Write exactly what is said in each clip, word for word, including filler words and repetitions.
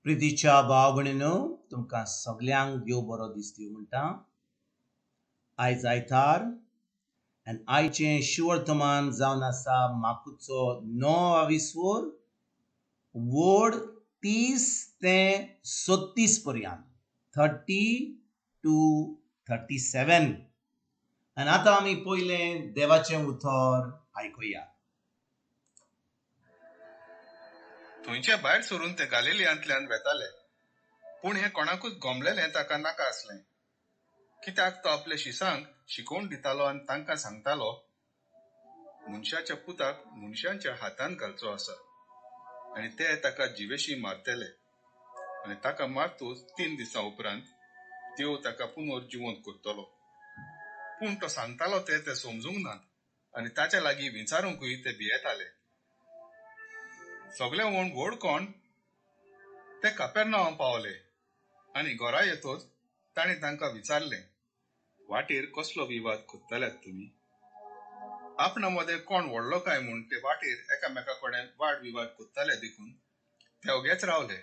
प्रितीच्या भाव भयणीनो, तुमकां सगल्यांक देव बरो दिसती म्हणटा. आयज आयतार आनी आयचें शिवर्तमान जावन आसा माकुचो णव विसवर वड तीस ते सत्तीस पर्यंत, थर्टी टू थर्टी सेवन. आनी आतां आमी पयलें देवाचें उतर आयकुया. थंयचे भायर सरून ते गालिलियांतल्यान वेताले, पूण हें कोणाकूच गोमलेलें ताका नाका आसलें, कित्याक तो आपल्या शिसांक शिकोवन दितालो आनी तांकां सांगतालो, मनशाच्या पुताक मनशांच्या हातान घालचो आसा आनी ते ताका जिवेशी मारतले आनी ताका मारतूच तीन दिसां उपरांत देव ताका पुनर्जिवंत करतलो. पूण तो सांगतालो ते ते समजूंक नात आनी ताच्या लागीं विचारूंकूय ते भियेताले. सगळे व्हड व्हड कोण ते कापेरनांवां पावले आनी घरा येतच ताणें तांकां विचारलें, वाटेर कसलो विवाद करतल्यात तुमी? आपणा मदें कोण व्हडलो काय म्हूण ते वाटेर एकामेका कडेन वाद विवाद करताले देखून ते ओगेच रावले.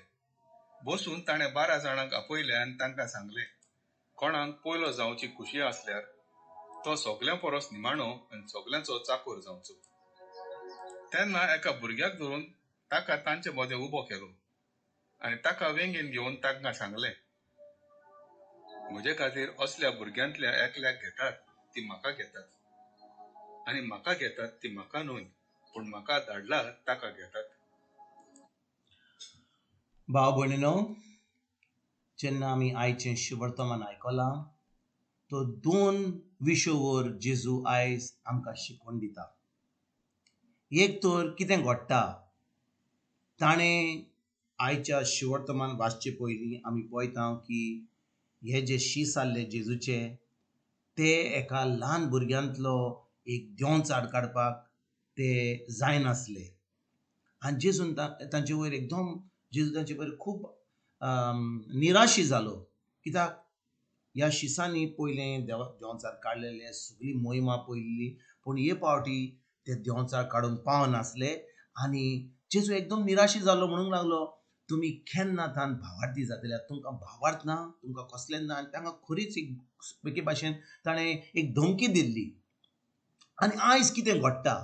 बसून ताणें बारा जाणांक आपयले आनी तांकां सांगलें, कोणाक पयलो जावची खुशी आसल्यार तो सगल्यां परस निमाणो आनी सगल्यांचो चाकोर जावचो. तेन्ना एका भुरग्याक धरून ताका तांचे मदें उबो केलो आनी ताका वेंगेन घेवन तांकां सांगलें, म्हजे खातीर असल्या भुरग्यांतल्या एकल्याक घेतात ती म्हाका घेतात आनी म्हाका घेतात ती म्हाका न्हय, पूण म्हाका धाडला ताका घेतात. भाव भयणीनो, जेन्ना आमी आयचें शिवर्तमान आयकलां तो दोन विशयवर जेजू आयज आमकां शिकोवन दिता. एक तर कितें घडटा, ताणें आयच्या शिवर्तमान वाचचे पयलीं आमी पळयता की हे जे शीस आसले जेजूचे ते एका ल्हान भुरग्यांतलो एक देंवचाड काडपाक ते जायनासले आनी जेजून तांचे वयर एकदम जेजू तांचे वयर खूब निराशी जालो. कित्याक ह्या शिसांनी पयलें देवा देंवचार काडलेले, सगळी मोहिमा पळयल्ली, पूण हे पावटी ते देंवचार काडूंक पावनासले आनी जेजू एकदम निराशी जालो. म्हणूंक लागलो, तुमी केन्ना तान भावार्थी जातले, तुमकां भावार्थ ना, तुमकां कसलें ना. आनी तांकां खरीच एक एके भाशेन ताणें एक धमकी दिल्ली. आनी आयज कितें घडटा,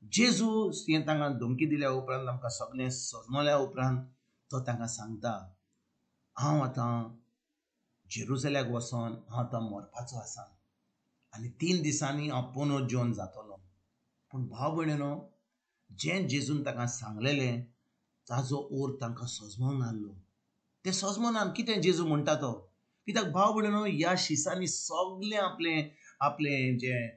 जेजू हें तांकां धमकी दिल्या उपरांत, आमकां सगळें सजमल्या उपरांत तो तांकां सांगता, हांव आतां जेरुजल्याक वचोन हांव आतां मरपाचो आसा आनी तीन दिसांनी हांव पुनर्जीवन जातलो. पूण भाव भयणीनो, जें जेजून ताका सांगलेलें ताजो ओर तांकां सजमोंक नासलो. ते सजमोना कितें जेजू म्हणटा तो. कित्याक भाव भयणीनो, ह्या शिसांनी सगळें आपलें आपलें जें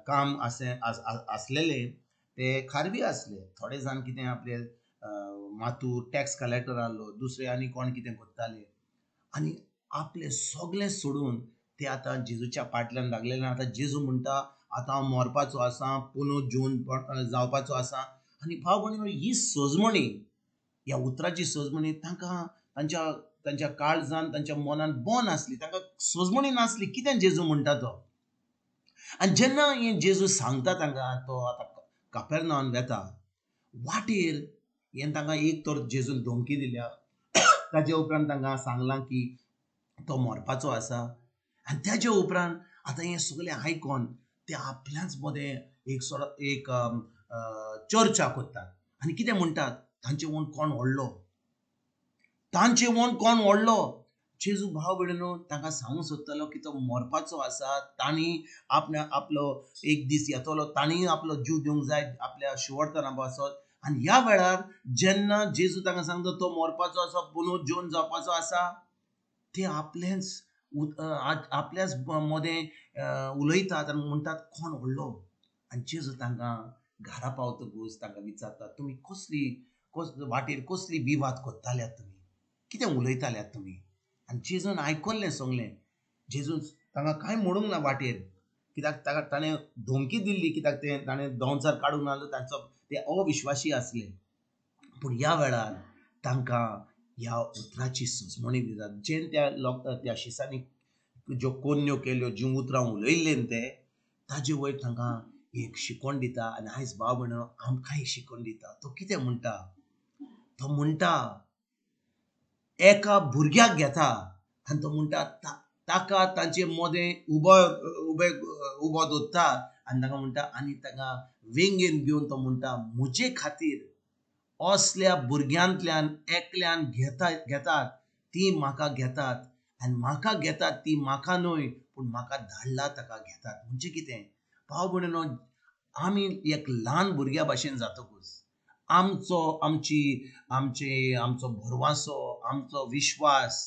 काम आसे आसलेलें ते खारवी आसले. थोडे जाण कितें आपले मातूर टॅक्स कलेक्टर आहलो, दुसरे आनी कोण कितें करताले आनी आपलें सगळें सोडून ते आतां जेजूच्या फाटल्यान लागलेले. आतां जेजू म्हणटा आतां हांव मरपाचो आसा, पुनर्जीवन जावपाचो आसा. आनी भाव भयणीनो, ही सजमणी, ह्या उतराची सजमणी तांकां तांच्या तांच्या काळजान तांच्या मनान बन आसली, तांकां सजमणी नासली कितें जेजू म्हणटा तो. आनी जेन्ना हें जेजू सांगता तांकां, तो आतां कापेरनांवान वेता, वाटेर हें तांकां एक तर जेजून धमकी दिल्या, ताजे उपरांत तांकां सांगलां की तो मरपाचो आसा. आनी ताजे उपरांत आतां हें सगळें आयकोन ते आपल्याच मदें एक सो एक चर्चा करतात आनी कितें म्हणटात, तांचे वोन कोण व्हडलो, तांचे वोन कोण व्हडलो. जेजू भाव भयणीनो तांकां सांगूंक सोदतालो की तो मरपाचो आसा, तांणी आपल्या आपलो एक दीस येतलो, तांणी आपलो जीव दिवंक जाय आपल्या शिवर्तना पासत. आनी ह्या वेळार जेन्ना जेजू तांकां सांगता तो मरपाचो आसा, पुनर्जीवन जावपाचो आसा, ते आपलेंच आपल्याच मदें उलयतात आनी म्हणटात कोण व्हडलो. आनी जेजू तांकां घरा पावतकूच तांकां विचारतात, तुमी कसली कस वाटेर कसली विवाद करताल्यात, तुमी कितें उलयताल्यात तुमी. आनी जेजून आयकल्लें सगळें. जेजून तांकां कांय म्हणूंक ना वाटेर, कित्याक ताका ताणें धमकी दिल्ली, कित्याक तें ताणें दोनचार काडूंक नासलो, तांचो ते अविश्वासी आसले. पूण ह्या वेळार तांकां ह्या उतराची सजमणी दितात. जेन त्या लोक त्या शिसांनी ज्यो कोन्यो केल्यो, ज्यो उतरां उलयल्लीं ते ताजे वयर तांकां एक शिकवण दिता. आनी आयज भाव भयणीनो आमकांय शिकवण दिता. तो कितें म्हणटा, तो म्हणटा एका भुरग्याक घेता आनी तो म्हणटा ताका तांचे मदें उबो उबे उबो दवरता आनी ताका म्हणटा आनी ताका वेंगेन घेवन तो म्हणटा म्हजे खातीर असल्या भुरग्यांतल्यान एकल्यान घेता घेतात ती म्हाका घेतात आनी म्हाका घेतात ती म्हाका न्हय पूण म्हाका धाडला ताका घेतात. म्हणजे कितें भाव भयणीनो, आमी एक ल्हान भुरग्या भाशेन जातकूच आमचो आमची आमचे आमचो भरवासो, आमचो विश्वास,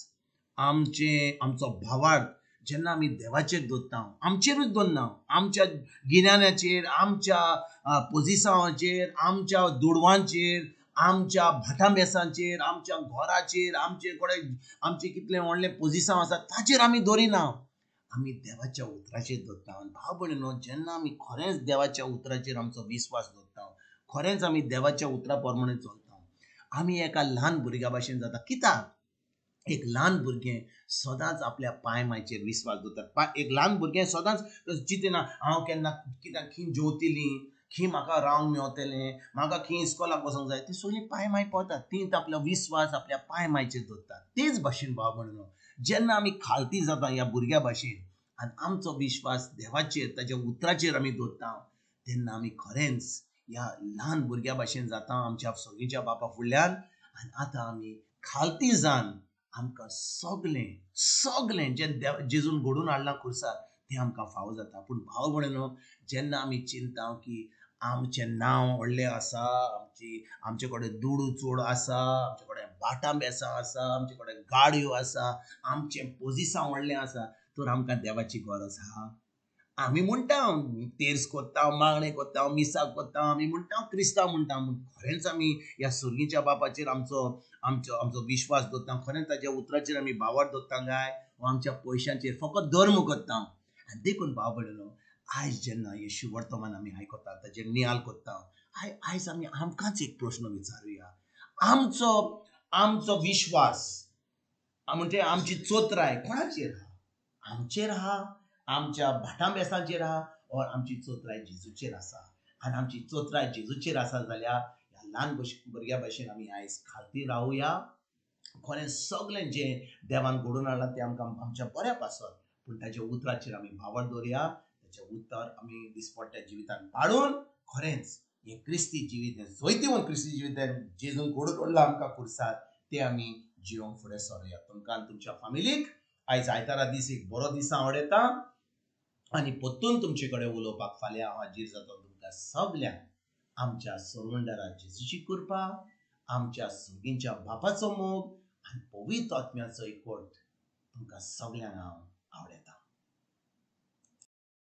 आमचे आमचो भावार्थ जेन्ना आमी देवाचेर दवरता, आमचेरूच दवरना, आमच्या गिन्यानाचेर, आमच्या पोजिसांवाचेर, आमच्या दुडवांचेर, आमच्या भाटां-बेसांचेर, आमच्या घराचेर, आमचे कडेन आमचे कितले व्हडले पोजिसांव आसा ताचेर आमी दवरिना, आमी देवाच्या उतराचेर दवरता. आनी भाव भयणीनो, जेन्ना आमी खरेंच देवाच्या उतराचेर आमचो विस्वास दवरता, खरेंच आमी देवाच्या उतरा प्रमाणे चलता, आमी एका ल्हान भुरग्या भाशेन जाता. कित्याक एक ल्हान भुरगें सदांच आपल्या पांय मायचेर विस्वास दवरता. एक ल्हान भुरगें सदांच चिंतना हांव केन्ना कित्याक खंय जेवतलीं, खंय म्हाका रावंक मेवतलें, म्हाका खंय इस्कोलाक वचोंक जाय, ती सगळीं पांय माय पळतात, ती आपलो विस्वास आपल्या पांय मायचेर दवरतात. तेच भाशेन भाव भयणीनो, जेन्ना आमी खालती जाता ह्या भुरग्या भाशेन आनी आमचो विश्वास देवाचेर, ताच्या उतराचेर आमी दवरता, तेन्ना आमी खरेंच ह्या ल्हान भुरग्या भाशेन जाता आमच्या सगळींच्या बापा फुडल्यान. आनी आतां आमी खालती जावन आमकां सगळें सगळें जें देव जेजून घडोवन हाडलां खुर्सार तें आमकां फावो जाता. पूण भाव भयणीनो, जेन्ना आमी चिंता की आमचें नांव व्हडलें आसा, आमची आमचे कडेन दुडू चड आसा, आमचे कडेन भाटां बेसां आसा, आमचे कडेन गाडयो आसा, आमचें पोजिसांव व्हडलें आसा, तर आमकां देवाची गरज आहा. आमी म्हणटा तेर्स कोत्ता, मागणें कोत्ता, मिसाक कोत्ता, आमी म्हणटा क्रिस्तांव म्हणटा, खरेंच आमी ह्या सुर्गीच्या बापाचेर आमचो आमचो आमचो विश्वास दवरता, खरेंच ताच्या उतराचेर आमी भावार्थ दवरता काय वा आमच्या पयशांचेर फकत धर्म करता. आनी देखून भाव भयणीनो, आयज जेन्ना येशू वर्तमान आमी आयकता, ताचेर नियाळ करता, I आयज आमी आमकांच एक प्रश्न विचारुया, आमचो आमचो विश्वास म्हणजे आमची चोत्राय कोणाचेर आहा? आमचेर आहा, आमच्या भाटां बेसांचेर आहा, और आमची चोत्राय जेजूचेर आसा. आनी आमची चोत्राय जेजूचेर आसा जाल्यार ह्या ल्हान भुरग्या भाशेन आमी आयज खालती रावया. खरें सगळें जें देवान घडोवन हाडलां तें आमकां आमच्या बऱ्या पासत, पूण ताच्या उतराचेर आमी भावार्थ दवरया, ताचें उतर आमी दिसपट्ट्या जिवितान पाळून खरेंच हें क्रिस्ती जिवीत, हें जैतिवंत क्रिस्ती जिवीत जेजून घडोवन हाडलां आमकां खुर्सार, तें आमी जिवंक फुडें सरुया. तुमकां आनी तुमच्या फामिलीक आयज आयतारा दीस एक बरो दीस हांव वडयता आनी परतून तुमचे कडेन उलोवपाक फाल्यां हांव हाजीर जातलो. तुमकां सगल्यांक आमच्या सरवंडरा जेजूची कृपा, आमच्या सुगींच्या बापाचो मोग आनी पवित्र आत्म्याचो एकवट तुमकां सगल्यांक हांव